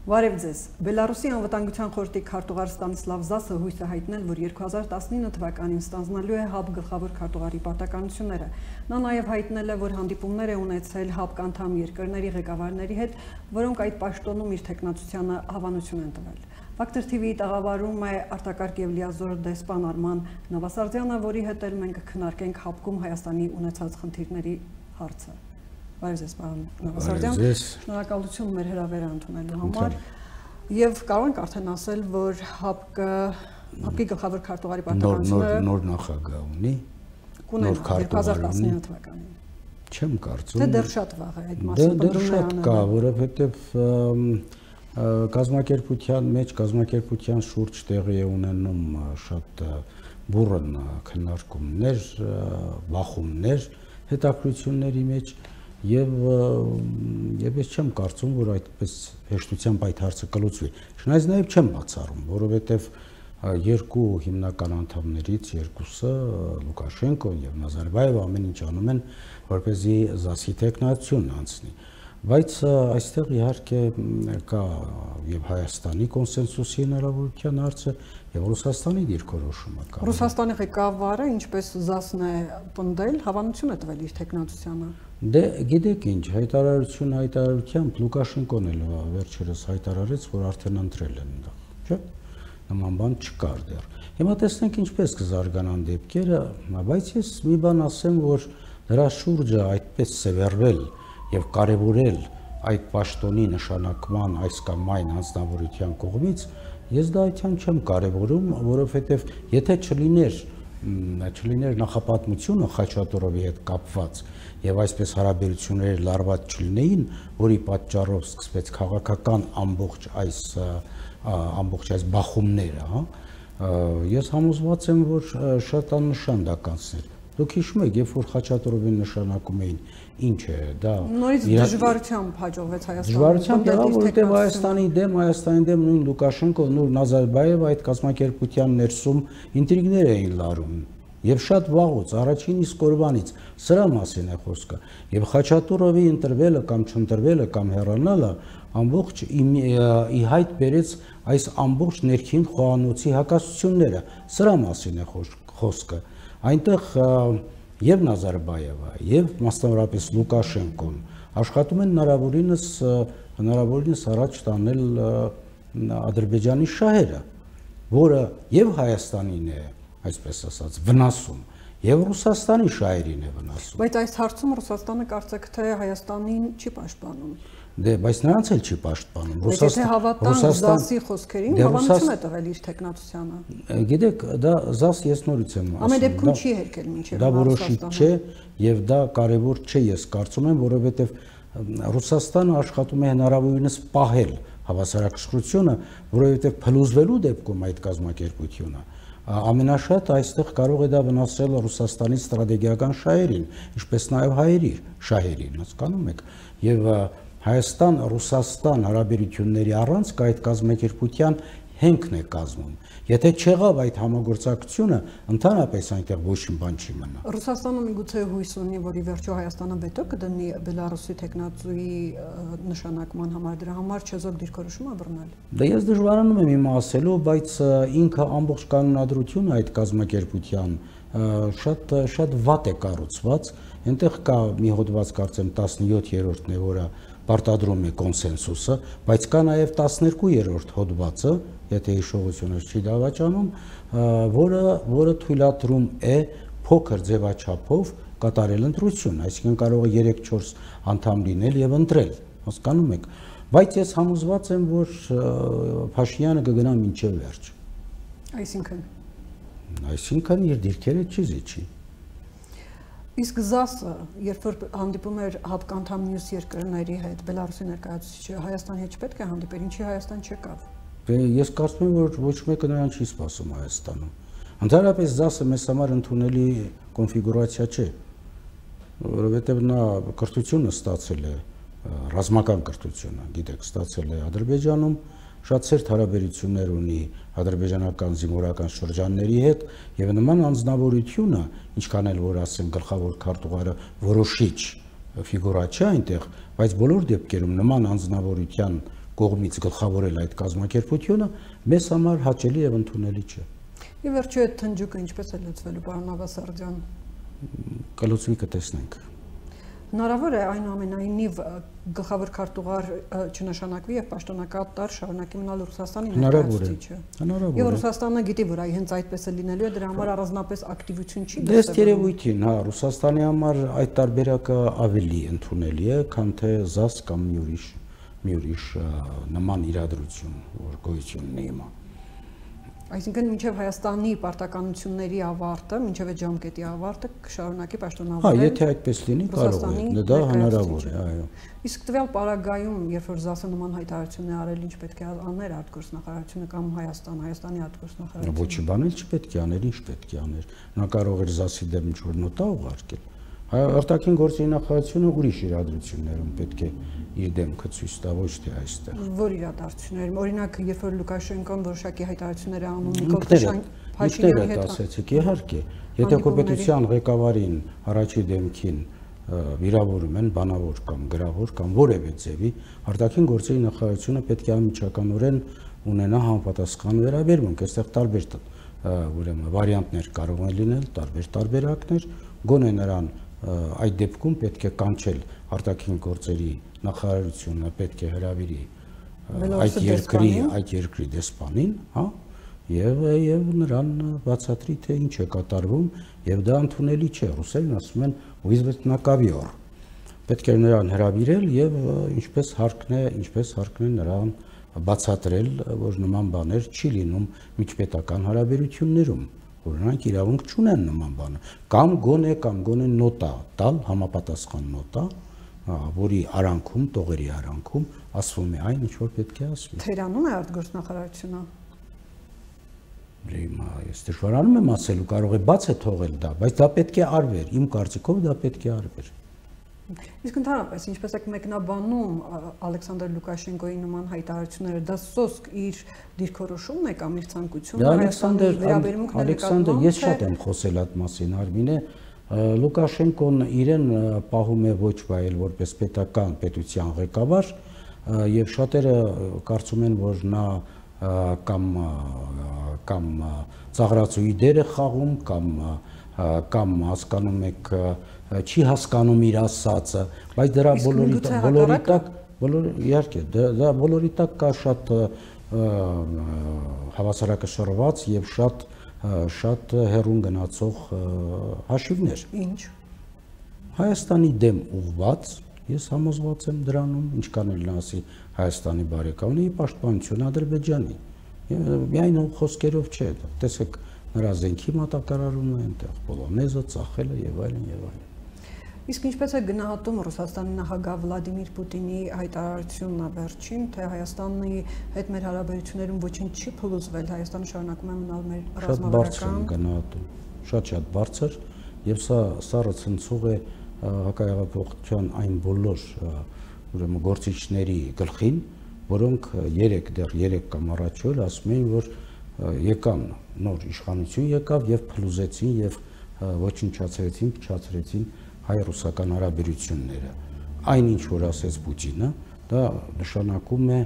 Բարև ձեզ։ Բելարուսի անվտանգության խորհրդի քարտուղար Ստանիսլավ Զասը հույս է հայտնել, որ 2019 թվականին ստանձնելու է ՀԱԲ գլխավոր քարտուղարի պարտականությունները։ Նա նաև հայտնել է, որ հանդիպումներ է ունեցել ՀԱԲ անդամ երկրների ղեկավարների հետ, որոնք այդ պաշտոնում իր թեկնածությանը հավանություն են տվել։ Ֆակտոր TV-ի տաղավարում է արտակարգ եւ լիազոր դեսպան Արման Նավասարդյանը, որի հետ էլ մենք կքննարկենք ՀԱԲ-ում Հայաստանի ունեցած խնդիրների հարցը։ Բարև ձեզ, պարոն Նավասարդյան, շնորհակալություն մեր հրավերը ընդունելու համար եւ կարող ենք արդեն ասել, որ ՀԱԲ-ի գլխավոր քարտուղարի պարտականությունները նոր նախագահ ունի, նոր 2019 թվականին։ Չեմ կարծում։ Դե դեռ շատ վաղ է այդ մասին պատմում կա, որովհետեւ կազմակերպության մեջ կազմակերպության շուրջ տեղի է ունենում շատ բուրըն քննարկումներ, բախումներ հետաքրությունների մեջ եւ ես չեմ կարծում, որ այդպես հեշտությամբ այդ հարցը կլուծվի։ Չնայած նաեւ չեմ բացառում, որովհետեւ երկու հիմնական անդամներից երկուսը Լուկաշենկոն եւ Նազարբաևը ամեն ինչ անում են, որպեսզի ԶԱՍ-ի տեխնացիոն անցնի։ Բայց այստեղ իհարկե կա եւ Հայաստանի կոնսենսուսի հնարավորության հարցը եւ Ռուսաստանի դիրքորոշումը կա։ Ռուսաստանի ղեկավարը ինչպես ԶԱՍ-ն է պնդել, հավանություն է տվել իր տեխնացությանը։ Դե գիտեք ինչ, հայտարարությամբ Լուկաշենկոն էլ վերջերս հայտարարեց, որ արդեն ընտրել են դա, չէ՞։ Նման բան չկար դեռ։ Հիմա տեսնենք ինչպես կզարգանան դեպքերը, բայց ես մի բան ասեմ, որ դրա շուրջը այդպես սևեռվել եւ կարեւորել այդ պաշտոնի նշանակման այս կամ այն անձնավորության կողմից, ես դա այդքան չեմ կարեւորում, որովհետեւ եթե չլիներ նախապատմությունը Խաչատուրովի հետ կապված եւ այսպես հարաբերությունները լարված չլինեին, որի պատճառով սկսվեց քաղաքական ամբողջ այս բախումները, ես համոզված եմ, որ շատ աննշան դա կանցներ։ Դուք հիշում եք, երբ որ Խաչատուրովին նշանակում էին, ինչ է դա նորից դժվարությամբ հաջողվեց Հայաստանը։ Դժվարությամբ եղավ, որովհետև Հայաստանի դեմ նույն Լուկաշենկոն ու Նազարբաևը այդ կազմակերպության ներսում ինտրիգներ էին լարում։ Եվ շատ վաղուց, առաջին իսկ օրվանից սրա մասին է խոսքը։ Եվ Խաչատուրովի ընտրվելը կամ չընտրվելը կամ հեռանալը ամբողջ ի հայտ բերեց այս ամբողջ ներքին խոհանոցի հակասությունները։ Սրա մասին է խոսքը։ Այնտեղ եւ Նազարբաևը եւ մասնավորապես Լուկաշենկոն աշխատում են հնարավորինս առաջ տանել Ադրբեջանի շահերը, որը եւ Հայաստանին է, այսպես ասած, վնասում եւ Ռուսաստանի շահերին է վնասում։ Բայց այս հարցում Ռուսաստանը կարծեք թե Հայաստանին չի պաշտպանում։ Դե, բայց նրանց էլ չի պաշտպանում։ Եթե հավատան ԶԱՍ-ի խոսքերին, հավանություն է տվել իր տեխնացությանը։ Գիտեք, դա ԶԱՍ ես նորից եմ ասում։ Ամեն դեպքում չի հերկել մինչև դա որոշիչ չէ եւ դա կարեւոր չէ, ես կարծում եմ, որովհետեւ Ռուսաստանը աշխատում է հնարավորինս պահել հավասարակշռությունը, որովհետեւ փլուզվելու դեպքում այդ կազմակերպությունը ամենաշատ այստեղ կարող է դա վնասել Ռուսաստանի ստրատեգիական շահերին, ինչպես նաեւ հայերի շահերին, հասկանում եք, եւ Հայաստան-Ռուսաստան հարաբերությունների առանցքը այդ կազմակերպության հենքն է կազմում։ Եթե չեղավ այդ համագործակցությունը, ընդհանրապես այնտեղ ոչ մի բան չի մնա։ Ռուսաստանը միգուցե հույս ունի, որ ի վերջո Հայաստանը վետո կդնի Բելարուսի տեխնացուի նշանակման համար, դրա համար չեզոք դիրքորոշում է բռնել։ Դա ես դժվարանում եմ իմ ասելու, բայց ինքը ամբողջ կանոնադրությունը այդ կազմակերպության շատ վատ է կառուցված։ Այնտեղ կա մի հոդված, կարծեմ 17-րդն է, որը պարտադրում է կոնսենսուսը, բայց կա նաև 12-րդ հոդվածը, եթե հիշողությունս չի դավաճանում, որը թույլատրում է փոքր ձևաչափով կատարել ընտրություն, այսինքն կարող է 3-4 անդամ լինել եւ ընտրել, հասկանում եք, բայց ես համոզված եմ, որ Փաշինյանը կգնա մինչև վերջ։ Այսինքն իր դիրքերը չի զիջի։ Իսկ ԶԱՍ-ը, երբ որ հանդիպում էր ՀԱԲ անդամ մյուս երկրների հետ, Բելարուսի ներկայացուցիչը Հայաստանի հետ չպետք է հանդիպեր, ինչի Հայաստան չեկավ։ Ես կարծում եմ, որ ոչ մեկը նրան չի սպասում Հայաստանում։ Ընդհանրապես ԶԱՍ-ը մեզ համար ընդունելի կոնֆիգուրացիա չէ, որովհետև նա կրթությունը ստացել է, ռազմական կրթությունը, գիտեք, ստացել է Ադրբեջանում, շատ սերտ հարաբերություններ ունի ադրբեջանական զինվորական շրջանների հետ եւ նման անձնավորությունը, ինչքան էլ որ ասեն գլխավոր քարտուղարը որոշիչ ֆիգուրա չէ այնտեղ, բայց բոլոր դեպքերում նման անձնավորության կողմից գլխավորել այդ կազմակերպությունը մեզ համար հաճելի եւ ընդունելի չէ։ Ի վերջո այդ թնջուկը ինչպես է լուծվելու, պարոն Ավասարդյան։ Կլուծվի կտեսնենք։ Հնարավոր է այնուամենայնիվ գլխավոր քարտուղար չնշանակվի եւ պաշտոնակատար շարունակի մնալ Ռուսաստանի ներկայացուցիչը։ Հնարավոր է։ Եվ Ռուսաստանը գիտի, որ հենց այդպես է լինելու է, դրա համար առանձնապես ակտիվություն չի դες երևույթին, հա, Ռուսաստանի համար այդ տարբերակը ավելի ընդունելի է, քան թե ԶԱՍ կամ մի ուրիշ նման իրադրություն, որ գոյություն ունի հիմա։ Այսինքն մինչև Հայաստանի պարտականությունների ավարտը, մինչև այդ ժամկետի ավարտը կշարունակի պաշտոնավորել։ Հա, եթե այդպես լինի, կարող է, դա հնարավոր է, այո։ Իսկ տվյալ պարագայում, երբ որ ԶԱՍ-ը նման հայտարարություն է արել, ինչ պետք է աներ արտգործնախարարությունը կամ Հայաստանի արտգործնախարարությունը։ Ոչի բան էլ չպետք է աներ, ինչ պետք է աներ։ Նա կարող էր ԶԱՍ-ի դեմ ինչ-որ նոտա ուղարկել։ Արտաքին գործերի նախարարությունը ուրիշ իրադրություններում պետք է իր դեմքը ցույց տա, ոչ թե այստեղ։ Որ իրադարձություններում, օրինակ, երբ որ Լուկաշենկոն որոշակի հայտարարություններ է անում Նիկոլ Փաշինյանի հետ ասեցիք, իհարկե, եթե կոպետության ղեկավարին առաջի դեմքին վիրավորում են բանավոր կամ գրավոր կամ որևէ ձևի, արտաքին գործերի նախարարությունը պետք է անմիջականորեն ունենա համապատասխան վերաբերմունք, այստեղ տարբեր ուրեմն վարիանտներ կարող են լինել, տարբեր տարբերակներ, գոնե նրան այդ դեպքում պետք է կանչել արտաքին գործերի նախարարությունը, պետք է հրավիրի այդ երկրի դեսպանին, հա, եւ նրան բացատրի թե ինչ է կատարվում եւ դա ընդունելի չէ, ռուսերեն ասում են «Ուիզվետնակավիոր»։ Պետք է նրան հրավիրել եւ ինչպես հարկն է նրան բացատրել, որ նման բաներ չի լինում միջպետական հարաբերություններում, որ նրանք իրավունք չունեն նման բանը, կամ գոնե նոտա տալ, համապատասխան նոտա, որի արանքում, տողերի արանքում ասվում է այն, ինչ որ պետք է ասվի։ Թերանում է արտգործնախարարությունը։ Ես դժվարանում եմ ասելու, կարող է բաց է թողել դա, բայց դա պետք է արվեր, իմ կարծիքով դա պետք է արվեր։ Իսկ ընդհանրապես, ինչպես եք մեկնաբանում Ալեքսանդր Լուկաշենկոյի նման հայտարարությունները, դա սոսկ իր դիրքորոշումն է կամ իր ցանկությունն է։ Ալեքսանդր, ես շատ եմ խոսել այդ մասին, Արմինե, Լուկաշենկոն իրեն պահում է ոչ վայել որպես պետության ղեկավար, եւ շատերը կարծում են, որ նա կամ ծաղրացուի դեր է խաղում, կամ հասկանում եք չի հասկանում իր ասածը, բայց դրա բոլորի տակ կա շատ հավասարակշռված եւ շատ հեռուն գնացող հաշիվներ։ Ինչ։ Հայաստանի դեմ ուղղված, ես համոզված եմ դրանում, ինչքան էլ նա ասի Հայաստանի բարեկամն է, պաշտպանություն Ադրբեջանի։ Միայն խոսքերով չէ, տեսեք նրա զենքի մատակարարումը այնտեղ, Պոլոնեզը, ծախելը եւ այլն եւ այլն։ Իսկ ինչպես է գնահատում Ռուսաստանի նախագահ Վլադիմիր Պուտինի հայտարարությունն վերջին, թե Հայաստանի հետ մեր հարաբերություններում ոչինչ չի փլուզվել, Հայաստանը շարունակում է մնալ մեր ռազմավարական գնահատում, շատ բարձր, եւ սա ցնցող է հակահեղափոխության այն բոլոր ուրեմն գործիչների գլխին, որոնք 3 կամ առաջ օր ասում էին, որ եկան նոր իշխանություն եկավ եւ փլուզեցին եւ ոչնչացրեցին, փչացրեցին հայ-ռուսական հարաբերությունները։ Այնինչ որ ասեց Պուտինը, դա նշանակում է,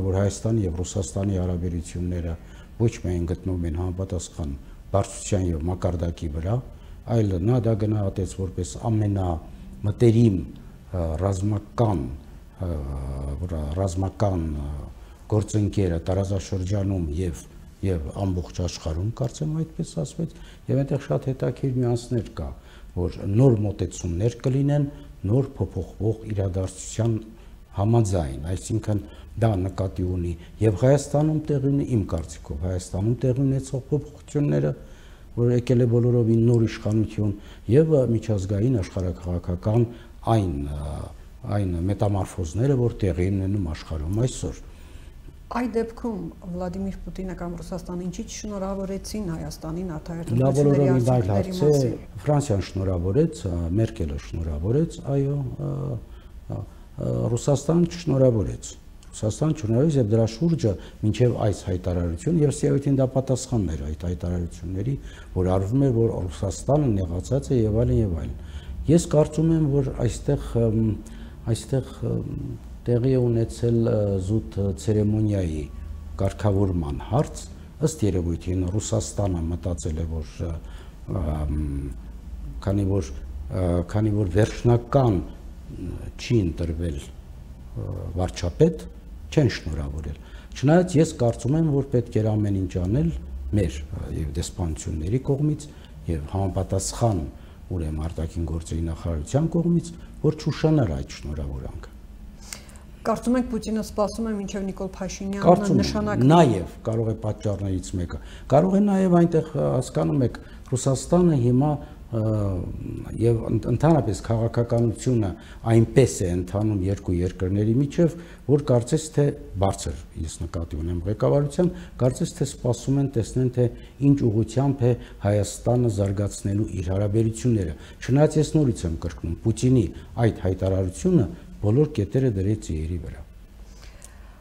որ Հայաստանի եւ Ռուսաստանի հարաբերությունները ոչ միայն գտնվում են համապատասխան բարձրության եւ մակարդակի վրա, այլ նա դա գնահատեց որպես ամենամտերիմ ռազմական գործընկերը տարածաշրջանում եւ ամբողջ աշխարհում, կարծեմ այդպես ասվեց, եւ այնտեղ շատ հետաքրքիր նյուանսներ կա, որ նոր մոտեցումներ կլինեն, նոր փոփոխվող իրադարձության համաձայն, այսինքն դա նկատի ունի եւ Հայաստանում տեղի ունի, իմ կարծիքով Հայաստանում տեղի ունեցող փոփոխությունները, որ եկել է բոլորովին նոր իշխանություն եւ միջազգային աշխարհակաղակական այն մետամորֆոզները, որ տեղի ունենում աշխարհում այսօր։ Այդ դեպքում Վլադիմիր Պուտինը կամ Ռուսաստանը ինչի շնորհավորեցին Հայաստանին արտահայտությունների մասին։ Ֆրանսիան շնորհավորեց, Մերկելը շնորհավորեց, այո, Ռուսաստանը չշնորհավորեց։ Ռուսաստանը չշնորհավորեց եւ դրա շուրջը մինչեւ այս հայտարարություն եւ սիավիթին դա պատասխանն էր այդ հայտարարությունների, որ արվում է, որ Ռուսաստանը նեղացած է եւ այլն եւ այլն։ Ես կարծում եմ, որ այստեղ տեղի է ունեցել զուտ ցերեմոնիայի կարգավորման հարց, ըստ երևույթին Ռուսաստանը մտածել է, որ քանի որ վերջնական չի ընտրվել վարչապետ, չեն շնորհավորել։ Չնայած ես կարծում եմ, որ պետք էր ամեն ինչ անել մեր եւ դեսպանությունների կողմից եւ համապատասխան ուրեմն արտաքին գործերի նախարարության կողմից, որ չուշանար այդ շնորհավորանքը։ Կարծում եք Պուտինը սպասում է մինչև Նիկոլ Փաշինյանը նշանակվի։ Նաև կարող է պատճառներից մեկը։ Կարող է նաև այնտեղ հասկանում եք Ռուսաստանը հիմա եւ ընդհանրապես քաղաքականությունը այնպես է ընթանում երկու երկրների միջև, որ կարծես թե բարձր, ես նկատի ունեմ ղեկավարության, կարծես թե սպասում են տեսնեն թե ինչ ուղղությամբ է Հայաստանը զարգացնելու իր հարաբերությունները։ Չնայած ես նորից եմ կրկնում, Պուտինի այդ հայտարարությունը բոլոր կետերը դրեց իերի վրա։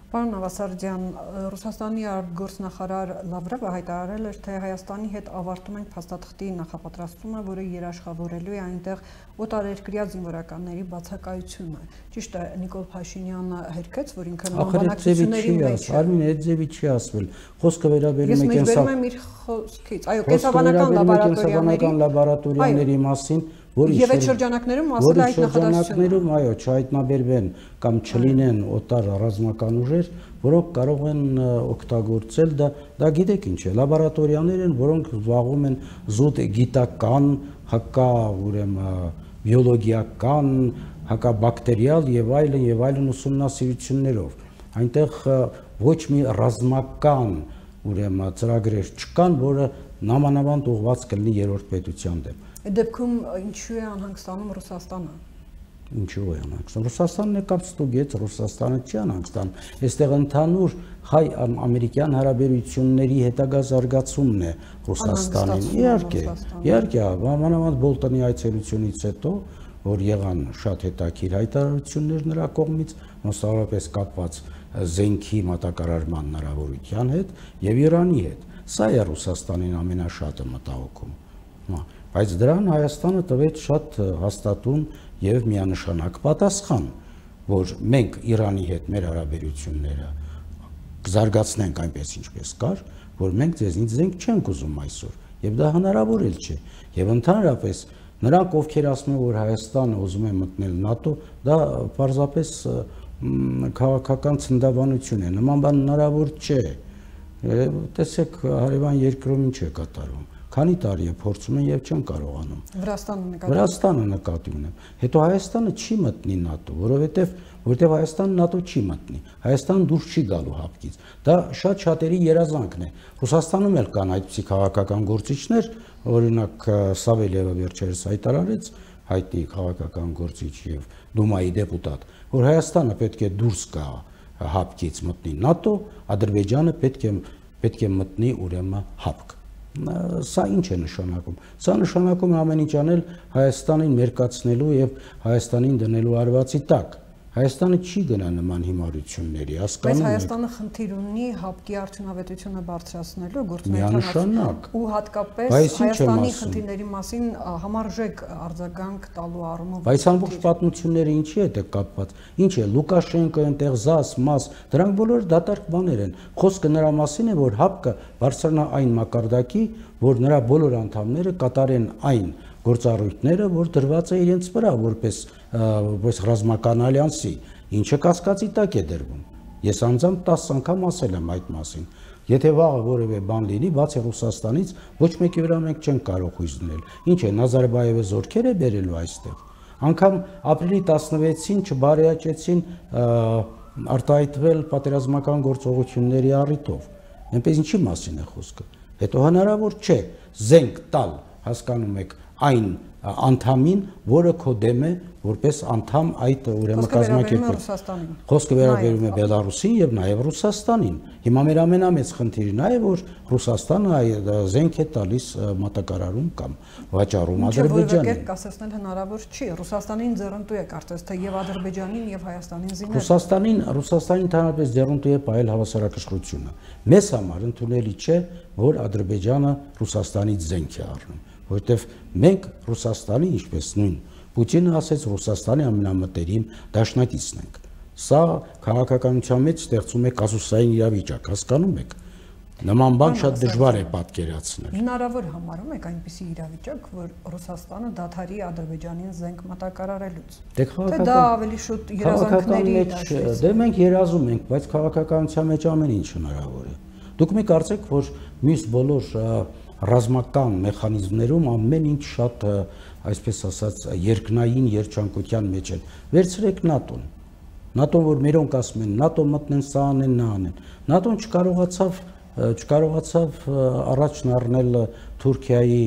Պարոն Նավասարդյան, Ռուսաստանի արտգործնախարար Լավրովը հայտարարել էր, թե Հայաստանի հետ ավարտում ենք փաստաթղթի նախապատրաստումը, որը երաշխավորելու է այնտեղ օտարերկրյա զինվորականների բացակայությունը։ Ճիշտ է, Նիկոլ Փաշինյանը հերքեց, որ ինքը նմանբանակցությունների մեջ է։ Արմին, այդ ձևի չի ասվել։ Խոսքը վերաբերում է կենսաբանական իր խոսքից։ Այո, կենսաբանական լաբորատորիաների մասին, Եվ այդ շրջանակներում ասել այդ նախադասություններում, այո, չհայտնաբերվեն կամ չլինեն օտար ռազմական ուժեր, որոնք կարող են օգտագործել, դա գիտեք ինչ է, լաբորատորիաներ են, որոնք զբաղվում են զուտ գիտական, հակա ուրեմն բիոլոգիական, հակաբակտերիալ եւ այլն ուսումնասիրություններով։ Այնտեղ ոչ մի ռազմական ուրեմն ծրագրեր չկան, որը նամանավանդ ուղղված կլինի երրորդ պետության դեմ։ Դեպքում ինչու է անհանգստանում Ռուսաստանը։ Ինչու է անհանգստանում։ Ռուսաստանն է կապ ստուգեց, Ռուսաստանը չի անհանգստանում։ Այստեղ ընդհանուր հայ-ամերիկյան հարաբերությունների հետագա զարգացումն է Ռուսաստանին։ Իհարկե, մանավանդ Բոլտոնի այցելությունից հետո, որ եղան շատ հետաքրքիր հայտարարություններ նրա կողմից, մասնավորապես կապված զենքի մատակարարման հնարավորության հետ եւ Իրանի հետ։ Սա է Ռուսաստանին ամենաշատը մտահոգում։ Բայց դրան Հայաստանը տվեց շատ հաստատուն եւ միանշանակ պատասխան, որ մենք Իրանի հետ մեր հարաբերությունները կզարգացնենք այնպես ինչպես կար, որ մենք ձեզնից զենք չենք ուզում այսօր, եւ դա հնարավոր էլ չէ։ Եվ ընդհանրապես նրանք, ովքեր ասում են, որ Հայաստանը ուզում է մտնել ՆԱՏՕ, դա պարզապես քաղաքական ցնդավանություն է։ Նման բան հնարավոր չէ։ Տեսեք, հարևան երկրում ինչ է կատարվում։ Քանի տարի է փորձում են եւ չեն կարողանում։ Վրաստանը նկատի ունեմ։ Հետո Հայաստանը չի մտնի ՆԱՏՕ, որովհետեւ Հայաստանը ՆԱՏՕ չի մտնի։ Հայաստանը դուրս չի գալու հապկից։ Դա շատ-շատերի երազանքն է։ Ռուսաստանում էլ կան այդպիսի քաղաքական գործիչներ, օրինակ Սավելիևը վերջերս հայտարարեց, հայտնի քաղաքական գործիչ եւ Դումայի դեպուտատ, որ Հայաստանը պետք է դուրս գա հապկից մտնի ՆԱՏՕ, Ադրբեջանը պետք է մտնի ուրեմն հապկ։ Սա ինչ է նշանակում։ Սա նշանակում է ամեն ինչ անել Հայաստանին մերկացնելու եւ Հայաստանին դնելու արվածի տակ։ Հայաստանը չի գնա նման հիմարությունների, հասկանում եք։ Բայց Հայաստանը խնդիր ունի հապկի արդյունավետությունը բարձրացնելու գործունեության ու հատկապես Հայաստանի խնդիրների մասին համարժեք արձագանք տալու առումով։ Բայց ամբողջ պատմությունները ինչի հետ է կապված։ Ինչ է Լուկաշենկո, այնտեղ ԶԱՍ, ՄԱՍ, դրանք բոլորը դատարկ բաներ են։ Խոսքը նրա մասին է, որ հապկը բարձրանա այն մակարդակի, որ նրա բոլոր անդամները կատարեն այն գործառույթները, որ դրված է իրենց վրա որպես ռազմական ալյանսի, ինչը կասկածի տակ է դրվում։ Ես անձամբ 10 անգամ ասել եմ այդ մասին։ Եթե վաղը որևէ բան լինի, բացի Ռուսաստանից, ոչ մեկի վրա մենք չենք կարող հույս դնել։ Ինչ է, Նազարբայևը զորքեր է բերելու այստեղ։ Անկամ ապրիլի 16-ին չբարեաճեցին արտահայտվել պատերազմական գործողությունների առիթով։ Այնպես ինչի մասին է խոսքը։ Հետո հնարավոր չէ զենք տալ, հասկանում եք, այն անդամին, որը քո դեմ է, որպես անդամ այդ ուրեմն կազմակերպել։ Խոսքը վերաբերում է Բելարուսին եւ նաեւ Ռուսաստանին։ Հիմա մեր ամենամեծ խնդիրը նա է, որ Ռուսաստանը զենք է տալիս մատակարարում կամ վաճառում Ադրբեջանին։ Կասեցնել հնարավոր չի։ Ռուսաստանին ձեռնտու է կարծես թե եւ Ադրբեջանին եւ Հայաստանին զինել։ Ռուսաստանին ընդհանրապես ձեռնտու է պահել հավասարակշռությունը։ Մեզ համար ընդունելի չէ, որ Ադրբեջանը Ռուսաստանից զենք է առնում, որովհետեւ մենք Ռուսաստանի, ինչպես նույն Պուտինը ասեց, Ռուսաստանի ամենամտերիմ դաշնակիցն ենք։ Սա քաղաքականության մեջ ստեղծում է կազուսային իրավիճակ, հասկանում եք։ Նման բան շատ դժվար է պատկերացնել։ Հնարավոր համարում եք այնպիսի իրավիճակ, որ Ռուսաստանը դադարի Ադրբեջանին զենք մատակարարելուց։ Թե դա ավելի շուտ երազանքների դաշտից։ Դե մենք երազում ենք, բայց քաղաքականության մեջ ամեն ինչ հնարավոր է։ Դուք մի կարծեք, որ մյուս բոլոր ռազմական մեխանիզմներում ամեն ինչ շատ, այսպես ասած, երկնային երջանկության մեջ են։ Վերցրեք ՆԱՏՕ-ն։ ՆԱՏՕ-ն, որ մերոնք ասում են, ՆԱՏՕ-ն մտնեն, սա անեն, նա անեն։ ՆԱՏՕ-ն չկարողացավ առաջն առնել Թուրքիայի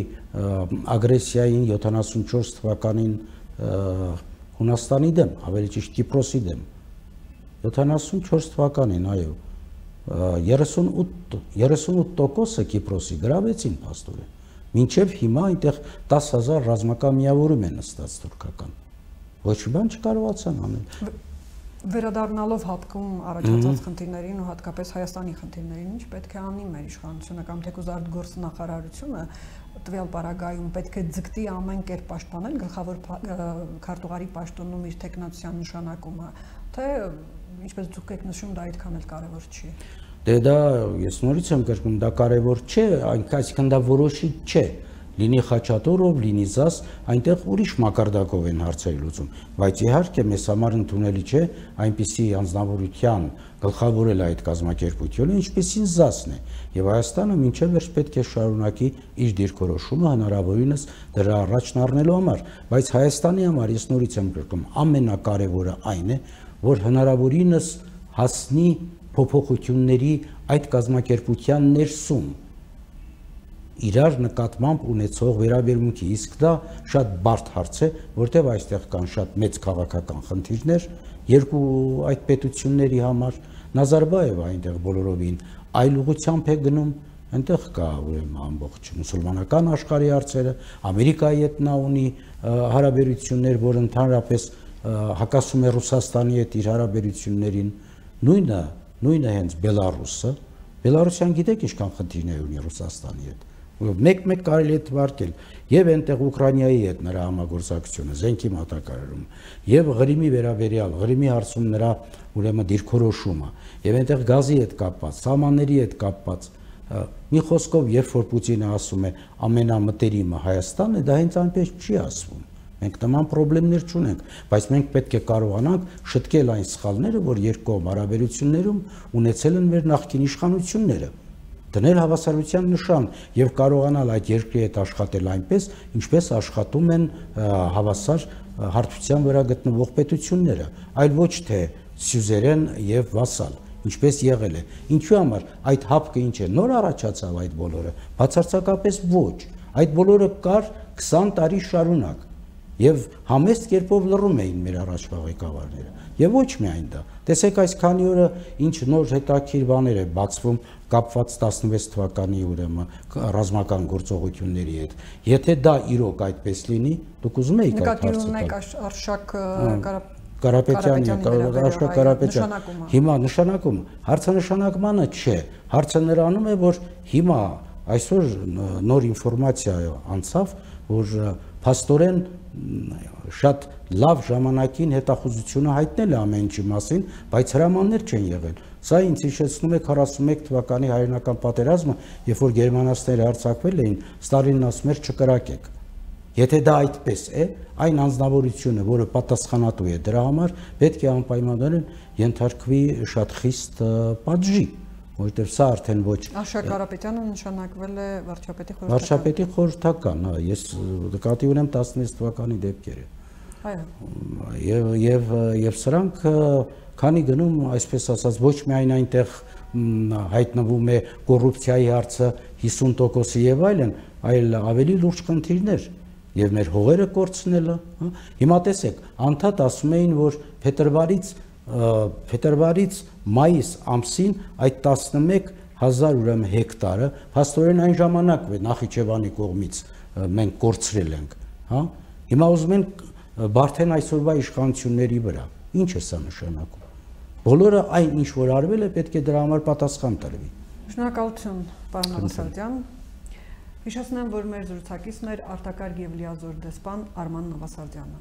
ագրեսիային 74 թվականին Հունաստանի դեմ, ավելի ճիշտ Կիպրոսի դեմ։ 74 թվականին, այո, 38% Կիպրոսի գրավեցին փաստորեն։ Մինչև հիմա այնտեղ 10,000 ռազմական միավորում են նստած թուրքական։ Ոչ մի բան չկարողացան անել։ Վերադառնալով հատկում առաջացած խնդիրներին ու հատկապես Հայաստանի խնդիրներին, ինչ պետք է անի մեր իշխանությունը կամ թեկուզ արտգործնախարարությունը տվյալ պարագայում պետք է ձգտի ամեն կերպ պաշտպանել գլխավոր քարտուղարի պաշտոնում իր տեխնացիան նշանակումը, թե ինչպես դուք եք նշում, դա այդքան էլ կարևոր չի։ Դե դա ես նորից եմ կրկնում, դա կարևոր չէ, այսինքն դա որոշիչ չէ։ Լինի Խաչատուրով, լինի ԶԱՍ, այնտեղ ուրիշ մակարդակով են հարցերը լուծում, բայց իհարկե մեզ համար ընդունելի չէ այնպիսի անձնավորության գլխավորել այդ կազմակերպությունը, ինչպեսին ԶԱՍ-ն է, եւ Հայաստանը մինչև վերջ պետք է շարունակի իր դիրքորոշումը հնարավորինս դրա առաջն առնելու համար, բայց Հայաստանի համար ես նորից եմ կրկնում, ամենակարևորը այն է, որ հնարավորինս հասնի փոփոխությունների այդ կազմակերպության ներսում իրար նկատմամբ ունեցող վերաբերմունքի, իսկ դա շատ բարդ հարց է, որտեղ այստեղ կան շատ մեծ քաղաքական խնդիրներ երկու այդ պետությունների համար։ Նազարբաևը այնտեղ բոլորովին այլ ուղղությամբ է գնում, այնտեղ կա ուրեմն ամբողջ մուսուլմանական աշխարհի հարցերը, Ամերիկայի հետ նա ունի հարաբերություններ, որ ընդհանրապես հակասում է Ռուսաստանի հետ իր հարաբերություններին, նույնը հենց Բելարուսը, Բելարուսյան գիտեք ինչքան խնդիրներ ունի Ռուսաստանի հետ։ Մեկ կարելի է թվարկել եւ այնտեղ Ուկրաինայի հետ նրա համագործակցությունը, զենքի մատակարարումը, եւ Ղրիմի վերաբերյալ, Ղրիմի հարցում նրա ուրեմն դիրքորոշումը, եւ այնտեղ գազի հետ կապված, սահմանների հետ կապված, մի խոսքով, երբ որ Պուտինը ասում է ամենամտերիմը Հայաստանն է, դա հենց այնպես չի ասվում։ Մենք նման խնդիրներ չունենք, բայց մենք պետք է կարողանանք շտկել այն սխալները, որ երկկողմ հարաբերություններում ունեցել են մեր նախկին իշխանությունները, դնել հավասարության նշան եւ կարողանալ այդ երկրի հետ աշխատել այնպես, ինչպես աշխատում են հավասար հարթության վրա գտնվող պետությունները, այլ ոչ թե սյուզերեն եւ վասալ, ինչպես եղել է։ Ինչու համար այդ հապկը ինչ է, նոր առաջացավ այդ բոլորը, բացարձակապես ոչ։ Այդ բոլորը կար 20 տարի շարունակ եւ համեստ կերպով լռում էին մեր առաջվա ղեկավարները։ Եվ ոչ միայն դա։ Տեսեք այս քանի օրը ինչ նոր հետաքրքիր բաներ է բացվում կապված 16 թվականի ուրեմն ռազմական գործողությունների հետ։ Եթե դա իրոք այդպես լինի, դուք ուզում եք այդ հարցը։ Հիմա նշանակումը, հարցը նշանակմանը չէ, հարցը նրանում է, որ հիմա այսօր նոր ինֆորմացիա անցավ, որ փաստորեն շատ լավ ժամանակին հետախուզությունը հայտնել է ամեն ինչի մասին, բայց հրամաններ չեն եղել։ Սա ինձ հիշեցնում է 41 թվականի հայրենական պատերազմը, երբ որ գերմանացիները հարձակվել էին, Ստալինն ասում էր չկրակեք։ Եթե դա այդպես է, այն անձնավորությունը, որը պատասխանատու է դրա համար, պետք է անպայմանորեն ենթարկվի շատ խիստ պատժի, որտեղ սա արդեն ոչ Արշակ Կարապետյանը նշանակվել է վարչապետի խորհրդական, հա, ես նկատի ունեմ 16 թվականի դեպքերը։ Այո։ Եվ սրանք քանի գնում, այսպես ասած, ոչ միայն այնտեղ հայտնվում է կոռուպցիայի հարցը 50%-ի եւ այլն, այլ ավելի լուրջ խնդիրներ եւ մեր հողերը կորցնելը, հա։ Հիմա տեսեք, անդադ ասում էին, որ փետրվարից մայիս ամսին այդ 11,000 ուրեմն հեկտարը փաստորեն այն ժամանակվա Նախիջևանի կողմից մենք կորցրել ենք, հա։ Հիմա ուզում են բարթեն այսօրվա իշխանությունների վրա։ Ինչ է սա նշանակում։ Բոլորը այն ինչ որ արվել է, պետք է դրա համար պատասխան տրվի։ Շնորհակալություն, պարոն Նավասարդյան։ Հիշեցնեմ, որ մեր զրուցակիցն էր արտակարգ եւ լիազոր դեսպան Արման Նավասարդյանը։